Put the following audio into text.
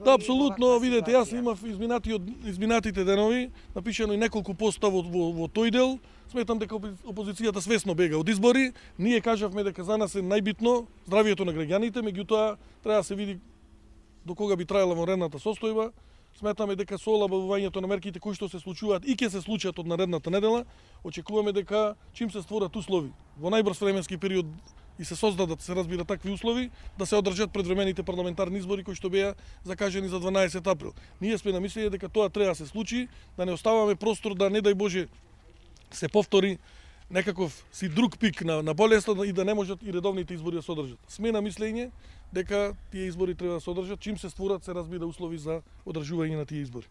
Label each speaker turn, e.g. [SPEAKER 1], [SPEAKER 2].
[SPEAKER 1] Да, апсолутно, видете, јас имав изминатите денови, напишано и неколку поста во тој дел. Сметам дека опозицијата свесно бега од избори. Ние кажавме дека за нас е најбитно здравието на граѓаните, меѓутоа треба да се види до кога би траела вонредната состојба. Сметаме дека со олабавувањето на мерките кои што се случуваат и ќе се случат од наредната недела, очекуваме дека чим се створат услови во најбрз временски период и се создадат, се разбира, такви услови, да се одржат предвремените парламентарни избори кои што беа закажени за 12 април. Ние сме на мислење дека тоа треба да се случи, да не оставаме простор да, не дај Боже, се повтори некаков си друг пик на болеста и да не можат и редовните избори да се одржат. Сме на мислење дека тие избори треба да се одржат чим се створат, се разбира, услови за одржување на тие избори.